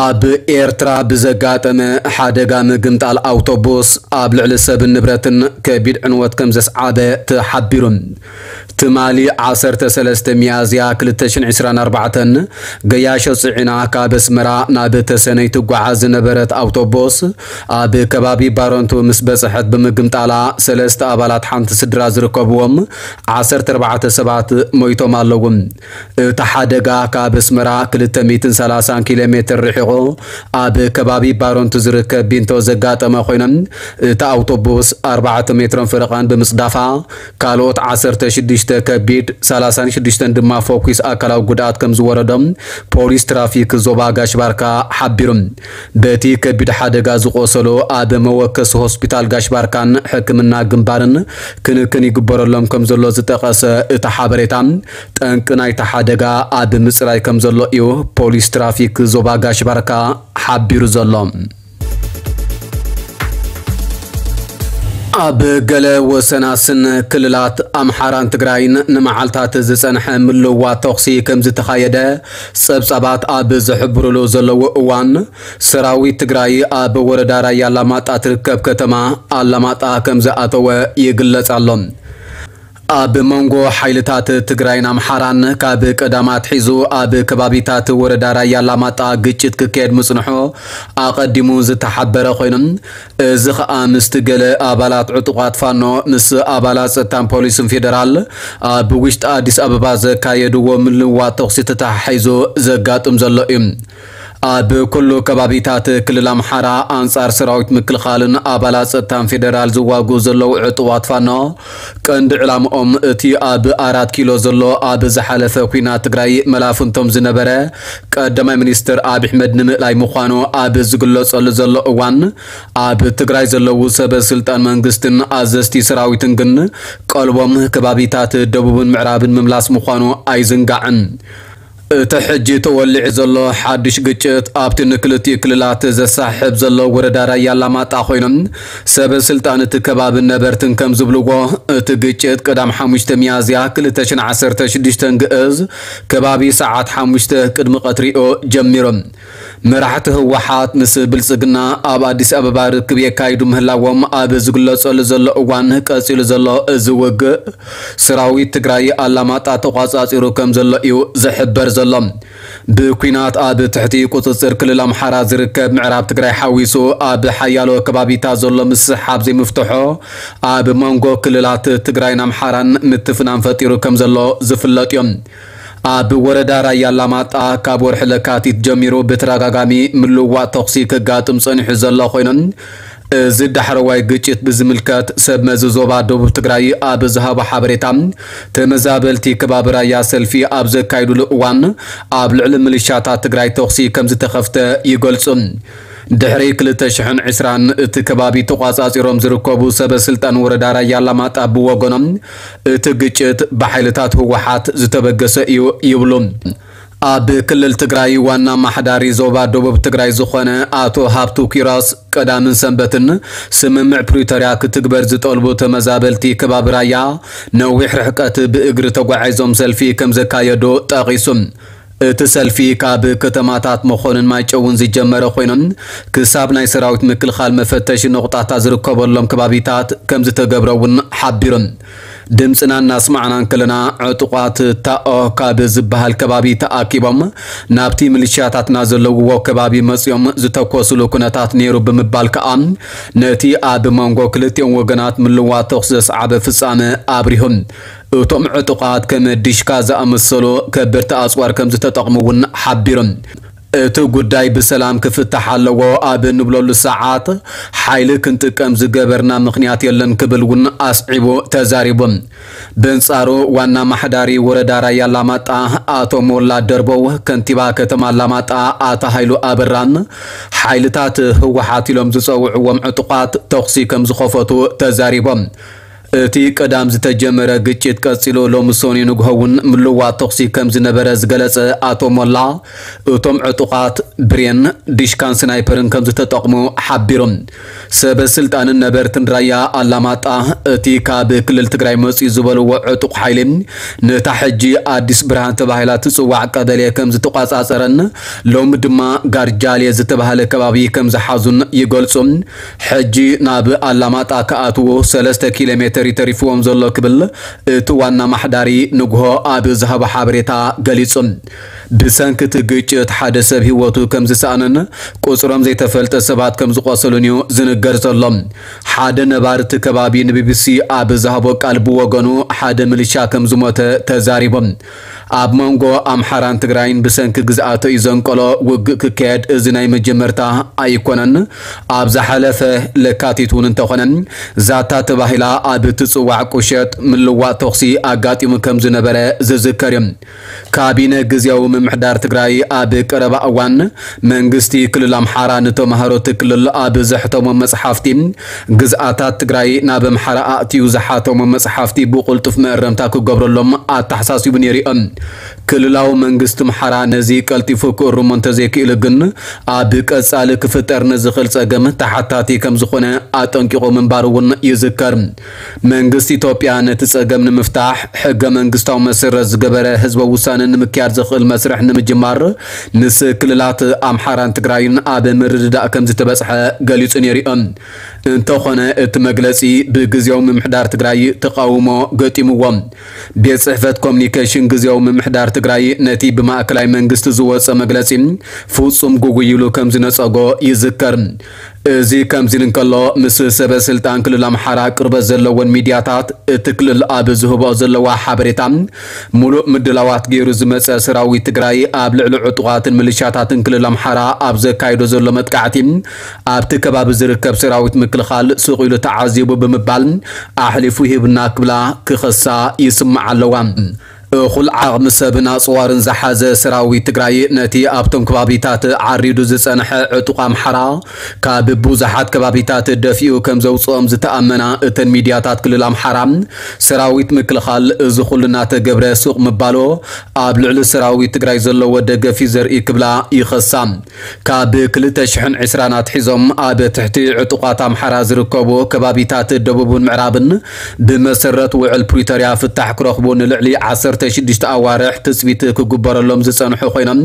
ኣብ ኤርትራ ብዘጋጠመ ሓደጋ ምግምጣል ኣውቶቡስ ኣብ ልዕሊ ሰብን ንብረትን ከቢድ ዕንወት ከም ዘስዓበ ተሓቢሩ። ትማሊ ዓሰርተ ሰለስተ ሚያዝያ ክልተ ሽሕን ዕስራን ኣርባዕተን ገያሾ ጽዒና ካብ ኣስመራ ናብ ተሰነይ ትጓዓዝ ዝነበረት ኣውቶቡስ ኣብ ከባቢ ባረንቱ ምስ በጽሐት ብምግምጣላ ሰለስተ ኣባላት ሓንቲ ስድራ ዝርከብዎም ዓሰርተ ኣርባዕተ ሰባት ሞይቶም ኣለዉ። እቲ ሓደጋ ካብ ኣስመራ ክልተ ሚእትን ሰላሳን ኪሎ ሜትር ርሒቑ ኣብ ከባቢ ባረንቱ ዝርከብ ቢንቶ ዘጋጠመ ኮይኖም፣ እታ ኣውቶቡስ ኣርባዕተ ሜትሮን ፈረቓን ብምጽዳፋ፣ ካልኦት ዓሰርተ ሽዱሽተ ከቢድ፣ ሰላሳን ሽዱሽተን ድማ ፈኲስ ኣካላዊ ጉድኣት ከም ዝወረዶም ፖሊስ ትራፊክ ዞባ ጋሽ ባርካ ሓቢሩ። በቲ ከቢድ ሓደጋ ዝቖሰሉ ኣብ መወከሲ ሆስፒታል ጋሽ ባርካን ሕክምና ግንባርን ክንክን ይግበረሎም ከም ዘሎ ዝጠቐሰ እቲ ሓበሬታ፣ ጠንቂ ናይቲ ሓደጋ ኣብ ምጽራይ ከም ዘሎ እዩ ፖሊስ ትራፊክ ዞባ ጋሽ ባርካ ሓቢሩ ዘሎ። ኣብ ገለ ወሰናስን ክልላት ኣምሓራን ትግራይን ንመዓልታት ዝጸንሐ ምልውዋጥ ተኹሲ ከም ዝተኻየደ ጸብጻባት ኣብ ዝሕብሩሉ ዘለዉ እዋን፣ ሰራዊት ትግራይ ኣብ ወረዳ ራያ ኣላማጣ ትርከብ ከተማ ኣላማጣ ከም ዝኣተወ ይግለጽ ኣሎ። ኣብ መንጎ ሓይልታት ትግራይን ኣምሓራን ካብ ቀዳም ኣትሒዙ ኣብ ከባቢታት ወረዳ ራያ ኣላማጣ ግጭት ክካየድ ምጽንሑ ኣቐዲሙ ዝተሓበረ ኮይኑ፣ እዚ ኸኣ ምስቲ ገለ ኣባላት ዕጡቓት ፋኖ ምስ ኣባላት ጸጥታን ፖሊስን ፌደራል ኣብ ውሽጢ ኣዲስ ኣበባ ዘካየድዎ ምልውዋጥ ተኹሲ ተተሓሒዙ ዘጋጥም ዘሎ እዩ። ኣብ ኩሉ ከባቢታት ክልል ኣምሓራ ኣንጻር ሰራዊት ምክልኻልን ኣባላት ጸጥታን ፌደራል ዝዋግኡ ዘለዉ ዕጡቓት ፋኖ፣ ቀንዲ ዕላምኦም እቲ ኣብ ኣራት ኪሎ ዘሎ ኣብ ዝሓለፈ ኲናት ትግራይ መላፍንቶም ዝነበረ ቀዳማይ ሚኒስትር ኣብይ ኣሕመድ ንምእላይ ምዃኑ ኣብ ዝግለጸሉ ዘሎ እዋን፣ ኣብ ትግራይ ዘለዉ ሰበ ስልጣን መንግስትን ኣዘዝቲ ሰራዊትን ግን ቀልቦም ከባቢታት ደቡብን ምዕራብን ምምላስ ምዃኑ ኣይዝንጋዕን። እቲ ሕጂ ተወሊዑ ዘሎ ሓድሽ ግጭት ኣብቲ ንክልቲኡ ክልላት ዘሳሕብ ዘሎ ወረዳ ራያ ኣላማጣ ኮይኖም፣ ሰበ ስልጣን እቲ ከባብን ነበርትን ከም ዝብልዎ፣ እቲ ግጭት ቀዳም ሓሙሽተ ሚያዝያ ክልተ ሽሕን ዓሰርተ ሽዱሽተን ግእዝ ከባቢ ሰዓት ሓሙሽተ ቅድሚ ቀትሪኡ ጀሚሩ። መራሕቲ ህወሓት ምስ ብልጽግና ኣብ ኣዲስ ኣበባ ርክብ የካይዱ ምህላዎም ኣብ ዝግለጸሉ ዘሎ እዋን፣ ቀጺሉ ዘሎ እዚ ውግእ ሰራዊት ትግራይ ኣላማጣ ተቋጻጺሩ ከም ዘሎ እዩ ዝሕበር ዘሎ። ብኲናት ኣብ ትሕቲ ቁጽጽር ክልል ኣምሓራ ዝርከብ ምዕራብ ትግራይ ሓዊሱ ኣብ ሓያሎ ከባቢታት ዘሎ ምስሕሓብ ዘይምፍትሖ ኣብ መንጎ ክልላት ትግራይን ኣምሓራን ምትፍናን ፈጢሩ ከም ዘሎ ዝፍለጥ እዩ። ኣብ ወረዳ ራያ ኣላማጣ ካብ ወርሒ ለካቲት ጀሚሩ ብተደጋጋሚ ምልውዋጥ ተኹሲ ከጋጥም ጸኒሑ ዘሎ ኮይኑ፣ እዚ ዳሕረዋይ ግጭት ብዝምልከት ሰብ መዚ ዞባ ደቡብ ትግራይ ኣብ ዝሃቦ ሓበሬታ፣ ተመዛበልቲ ከባቢ ራያ ሰልፊ ኣብ ዘካይዱሉ እዋን ኣብ ልዕሊ ምልሻታት ትግራይ ተኹሲ ከም ዝተኸፍተ ይገልጹ። ድሕሪ ክልተ ሽሕን ዕስራን እቲ ከባቢ ተቋጻጺሮም ዝርከቡ ሰበ ስልጣን ወረዳ ራያ ኣላማጣ ብወገኖም፣ እቲ ግጭት ብሓይልታት ህወሓት ዝተበገሰ እዩ ይብሉ። ኣብ ክልል ትግራይ ዋና ኣማሓዳሪ ዞባ ደቡብ ትግራይ ዝኾነ ኣቶ ሃብቱ ኪሮስ፣ ቀዳምን ሰንበትን ስምምዕ ፕሪቶርያ ክትግበር ዝጠልቡ ተመዛበልቲ ከባቢ ራያ ነዊሕ ርሕቀት ብእግሪ ተጓዒዞም ሰልፊ ከም ዘካየዱ ጠቒሱ። እቲ ሰልፊ ካብ ከተማታት መኾንን ማይጨውን ዝጀመረ ኮይኖም፣ ክሳብ ናይ ሰራዊት ምክልኻል መፈተሺ ነቑጣታት ዝርከበሎም ከባቢታት ከም ዝተገብረ እውን ሓቢሮም። ድምፅና እናስማዕና እንከለና፣ ዕጡቓት ታኦ ካብ ዝበሃል ከባቢ ተኣኪቦም ናብቲ ሚሊሽያታትና ዘለውዎ ከባቢ መፅዮም ዝተኮስሉ ኩነታት ነይሩ ብምባል ከዓ፣ ነቲ ኣብ መንጎ ክልቲኦም ወገናት ምልዋት ተኹሲ ዘስዓበ ፍፃመ ኣብሪሆም። እቶም ዕጡቓት ከም ዲሽካ ዝኣመሰሉ ከበድቲ ኣፅዋር ከም ዝተጠቕሙ እውን ሓቢሮም። እቲ ጉዳይ ብሰላም ክፍታሕ ኣለዎ ኣብ እንብለሉ ሰዓት፣ ሓይሊ ክንጥቀም ዝገበርና ምኽንያት የለን ክብል እውን ኣስዒቡ ተዛሪቡ። በንጻሩ፣ ዋና ኣማሓዳሪ ወረዳ ራያ ኣላማጣ ኣቶ ሞላ ደርበው፣ ከንቲባ ከተማ ኣላማጣ ኣቶ ሃይሉ ኣበራን ሓይልታት ህወሓት ኢሎም ዝጸውዕዎም ዕጡቓት ተኹሲ ከም ዝኸፈቱ ተዛሪቦም። እቲ ቀዳም ዝተጀመረ ግጭት ቀጺሉ ሎሚ ሰኑይ ንግሆ እውን ምልዋጥ ተኹሲ ከም ዝነበረ ዝገለጸ ኣቶ ሞላ፣ እቶም ዕጡቓት ብሬን፣ ዲሽካን ስናይፐርን ከም ዝተጠቕሙ ሓቢሮም። ሰበ ስልጣንን ነበርትን ራያ ኣላማጣ፣ እቲ ካብ ክልል ትግራይ መጽዩ ዝበልዎ ዕጡቕ ሓይሊ፣ ነታ ሕጂ ኣዲስ ብርሃን ተባሂላ ትጽዋዕ ቀበሌ ከም ዝተቋጻጸረን ሎሚ ድማ ጋርጃሌ ዝተባህለ ከባቢ ከም ዝሓዙን ይገልጹ። ሕጂ ናብ ኣላማጣ ክኣትዉ ሰለስተ ኪሎ ሜተር እዩ ተሪፍዎም ዘሎ ክብል እቲ ዋና ማሕዳሪ ንግሆ ኣብ ዝሃቦ ሓበሬታ ገሊጹ። ብሰንኪ እቲ ግጭት ሓደ ሰብ ህይወቱ ከም ዝሰኣነን ቁጽሮም ዘይተፈልጠ ሰባት ከም ዝቆሰሉን እዩ ዝንገር ዘሎ። ሓደ ነባሪ እቲ ከባቢ ንቢቢሲ ኣብ ዝሃቦ ቃል ብወገኑ ሓደ ምልሻ ከም ዝሞተ ተዛሪቡ። ኣብ መንጎ ኣምሓራን ትግራይን ብሰንኪ ግዝኣቶ እዩ ዘንቀሎ ውግእ ክካየድ እዚ ናይ መጀመርታ ኣይኮነን። ኣብ ዝሓለፈ ለካቲት እውን እንተኾነ ዛታ ተባሂላ ኣብ እትጽዋዕ ቁሸት ምልዋጥ ተኹሲ ኣጋጢሙ ከም ዝነበረ ዝዝከር እዩ። ካቢነ ግዝያዊ ምምሕዳር ትግራይ ኣብ ቀረባ እዋን መንግስቲ ክልል ኣምሓራ ንተምሃሮ እቲ ክልል ኣብ ዘሕተሞ መጽሓፍቲ ግዝኣታት ትግራይ ናብ ኣምሓራ ኣእትዩ ዝሓተሞ መጽሓፍቲ ብቕልጡፍ መእረምታ ክገብረሎም ኣተሓሳሲቡ ነይሩ እዩ። ክልላዊ መንግስቲ ኣምሓራ ነዚ ቀልጢፉ ክእርሞ እንተዘይክእሉ ግን ኣብ ቀጻሊ ክፍጠር ንዝኽእል ጸገም ተሓታቲ ከም ዝኾነ ኣጠንቂቑ ምንባሩ እውን ይዝከር። መንግስቲ ኢትዮጵያ ነቲ ጸገም ንምፍታሕ ሕገ መንግስታዊ መሰረት ዝገበረ ህዝበ ውሳነ ንምክያድ ዘኽእል መስርሕ ንምጅማር ምስ ክልላት ኣምሓራን ትግራይን ኣብ ምርድዳእ ከም ዝተበጽሐ ገሊጹ ነይሩ እዩ። እንተኾነ እቲ መግለጺ ብግዝያዊ ምምሕዳር ትግራይ ተቓውሞ ገጢምዎ። ቤት ጽሕፈት ኮሚኒኬሽን ግዝያዊ ምምሕዳር ትግራይ ነቲ ብማእከላይ መንግስቲ ዝወጸ መግለጺ ፍጹም ጉጉይ ኢሉ ከም ዝነጸጎ ይዝከር። እዚ ከምዚ እንከሎ ምስ ሰበ ስልጣን ክልል ኣምሓራ ቅርበት ዘለወን ሚድያታት እቲ ክልል ኣብ ዝህቦ ዘለዋ ሓበሬታ፣ ምሉእ ምድላዋት ገይሩ ዝመጸ ሰራዊት ትግራይ ኣብ ልዕሊ ዕጡቓትን ምልሻታትን ክልል ኣምሓራ ኣብ ዘካይዶ ዘሎ መጥቃዕቲ ኣብቲ ከባቢ ዝርከብ ሰራዊት ምክልኻል ስቕ ኢሉ ተዓዚቡ ብምባል ኣሕሊፉ ሂብና ክብላ ክኸሳ ይስምዓ ኣለዋ። እኹል ዓቕሚ ሰብን ኣጽዋርን ዝሓዘ ሰራዊት ትግራይ ነቲ ኣብቶም ከባቢታት ዓሪዱ ዝጸንሐ ዕጡቕ ኣምሓራ ካብ ብዙሓት ከባቢታት ደፊኡ ከም ዘውጽኦም ዝተኣመና እተን ሚድያታት ክልል ኣምሓራ፣ ሰራዊት ምክልኻል እዚ ኩሉ እናተገብረ ሱቕ ምባሎ ኣብ ልዕሊ ሰራዊት ትግራይ ዘለዎ ደገፍ እዩ ዘርኢ ክብላ ይኸሳ። ካብ ክልተ ሽሕን ዕስራን ኣትሒዞም ኣብ ትሕቲ ዕጡቓት ኣምሓራ ዝርከቡ ከባቢታት ደቡብን ምዕራብን ብመሰረት ውዕል ፕሪቶርያ ፍታሕ ክረኽቡ ንልዕሊ ዓሰርተ ሽዱሽተ ኣዋርሕ ትጽቢት ክግበረሎም ዝጸንሑ ኮይኖም፣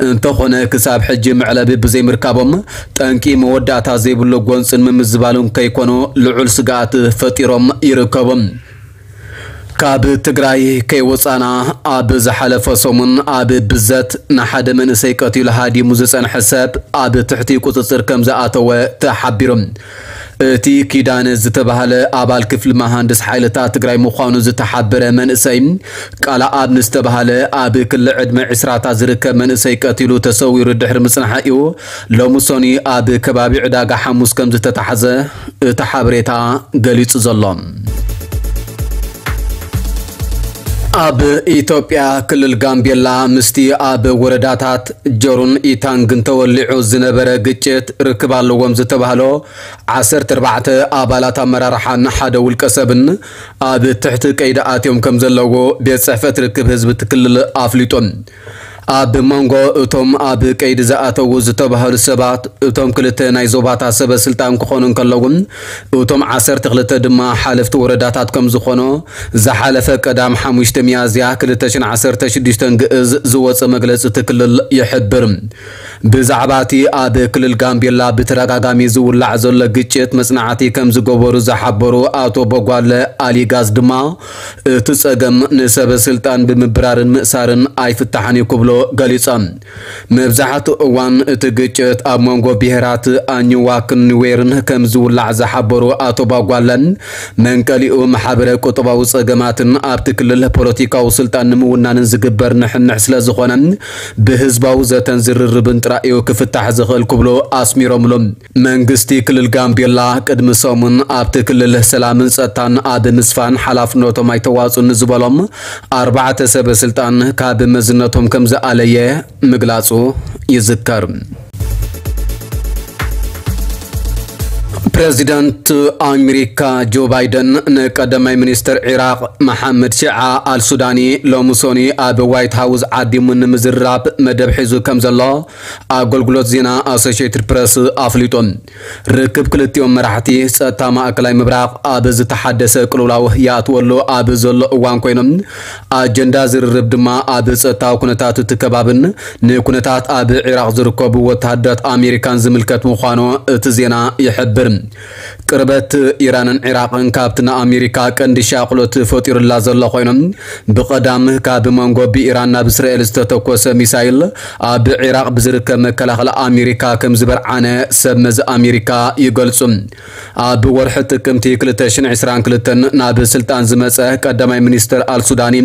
እንተኾነ ክሳብ ሕጂ መዕለቢ ብዘይምርካቦም ጠንቂ መወዳእታ ዘይብሉ ጎንፅን ምምዝባልን ከይኮኑ ልዑል ስግኣት ፈጢሮም ይርከቡ። ካብ ትግራይ ከይወፃና ኣብ ዝሓለፈ ሰሙን ኣብ ብዘት ንሓደ መንእሰይ ቀቲሉ ሃዲሙ ዝፀንሐ ሰብ ኣብ ትሕቲ ቁፅፅር ከም ዝኣተወ ተሓቢሩ። እቲ ኪዳነ ዝተባህለ ኣባል ክፍሊ መሃንድስ ሓይልታት ትግራይ ምዃኑ ዝተሓበረ መንእሰይ ቃልኣብ ንዝተባህለ ኣብ ክሊ ዕድመ ዕስራታት ዝርከብ መንእሰይ ቀቲሉ ተሰዊሩ ድሕሪ ምጽናሑ እዩ ሎሚ ሰኑይ ኣብ ከባቢ ዕዳጋ ሓሙስ ከም ዝተታሕዘ እቲ ሓበሬታ ገሊጹ ዘሎ። ኣብ ኢትዮጵያ ክልል ጋምቤላ ምስቲ ኣብ ወረዳታት ጀሩን ኢታንግን ተወሊዑ ዝነበረ ግጭት ርክብ ኣለዎም ዝተባህሎ ዓሰርተ ኣርባዕተ ኣባላት ኣመራርሓን ሓደ ውልቀ ሰብን ኣብ ትሕቲ ቀይዲ ኣትዮም ከም ዘለዉ ቤት ጽሕፈት ርክብ ህዝቢ እቲ ክልል ኣፍሊጡ። ኣብ መንጎ እቶም ኣብ ቀይዲ ዝኣተዉ ዝተባህሉ ሰባት፣ እቶም ክልተ ናይ ዞባታት ሰበ ስልጣን ክኾኑ እንከለዉ፣ እቶም ዓሰርተ ክልተ ድማ ሓለፍቲ ወረዳታት ከም ዝኾኑ ዝሓለፈ ቀዳም ሓሙሽተ ሚያዝያ ክልተ ሽሕን ዓሰርተ ሽዱሽተን ግእዝ ዝወጸ መግለጺ እቲ ክልል ይሕብር። ብዛዕባ እቲ ኣብ ክልል ጋምቤላ ብተደጋጋሚ ዝውላዕ ዘሎ ግጭት መጽናዕቲ ከም ዝገበሩ ዝሓበሩ ኣቶ ቦጓለ ኣሊጋዝ ድማ፣ እቲ ጸገም ንሰበ ስልጣን ብምብራርን ምእሳርን ኣይፍታሕን እዩ ክብሉ ገሊጾም። መብዛሕትኡ እዋን እቲ ግጭት ኣብ መንጎ ብሄራት ኣኝዋክን ኑዌርን ከም ዝውላዕ ዝሓበሩ ኣቶ ባጓለን፣ መንቀሊኡ ማሕበረ ቁጠባዊ ጸገማትን ኣብቲ ክልል ፖለቲካዊ ስልጣን ንምውናንን ዝግበር ንሕንሕ ስለ ዝኾነ፣ ብህዝባዊ ዘተን ዝርርብን ጥራይ እዩ ክፍታሕ ዝኽእል ክብሉ ኣስሚሮምሉ። መንግስቲ ክልል ጋምቤላ ቅድሚ ሰሙን ኣብቲ ክልል ሰላምን ጸጥታን ኣብ ምስፋን ሓላፍነቶም ኣይተዋጽኡን ዝበሎም ኣርባዕተ ሰበ ስልጣን ካብ መዝነቶም ከም ዝኣለየ ምግላጹ ይዝከር። ፕረዚደንት ኣሜሪካ ጆ ባይደን ንቀዳማይ ሚኒስትር ዒራቕ መሓመድ ሺዓ ኣልሱዳኒ ሎሚ ሶኒ ኣብ ዋይት ሃውስ ዓዲሙ ንምዝራብ መደብ ሒዙ ከም ዘሎ ኣገልግሎት ዜና ኣሶሽየትድ ፕረስ ኣፍሊጡ። ርክብ ክልቲኦም መራሕቲ ጸጥታ ማእከላይ ምብራቕ ኣብ ዝተሓደሰ ቅልውላው ይኣትወሉ ኣብ ዘሎ እዋን ኮይኖም፣ ኣጀንዳ ዝርርብ ድማ ኣብ ጸጥታዊ ኩነታት እቲ ከባብን ንኩነታት ኣብ ዒራቕ ዝርከቡ ወተሃደራት ኣሜሪካን ዝምልከት ምዃኑ እቲ ዜና ይሕብር። ቅርበት ኢራንን ዒራቕን ካብቲ ንኣሜሪካ ቀንዲ ሻቕሎት ፈጢሩላ ዘሎ ኮይኖም፣ ብቐዳም ካብ መንጎ ብኢራን ናብ እስራኤል ዝተተኮሰ ሚሳይል ኣብ ዒራቕ ብዝርከብ መከላኸሊ ኣሜሪካ ከም ዝበርዓነ ሰብ መዚ ኣሜሪካ ይገልጹ። ኣብ ወርሒ ጥቅምቲ ክልተ ሽሕን ዕስራን ክልተን ናብ ስልጣን ዝመጸ ቀዳማይ ሚኒስትር ኣልሱዳኒ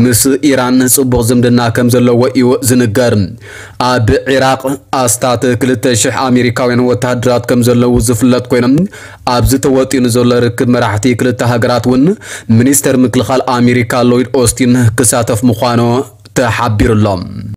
ምስ ኢራን ጽቡቕ ዝምድና ከም ዘለዎ እዩ ዝንገር። ኣብ ዒራቕ ኣስታት ክልተ ሽሕ ኣሜሪካውያን ወተሃደራት ከም ዘለዉ ዝፍለጥ ኮይኖም፣ ኣብዚ ተወጢኑ ዘሎ ርክብ መራሕቲ ክልተ ሃገራት እውን ሚኒስተር ምክልኻል ኣሜሪካ ሎይድ ኦስቲን ክሳተፍ ምዃኑ ተሓቢሩ ኣሎ።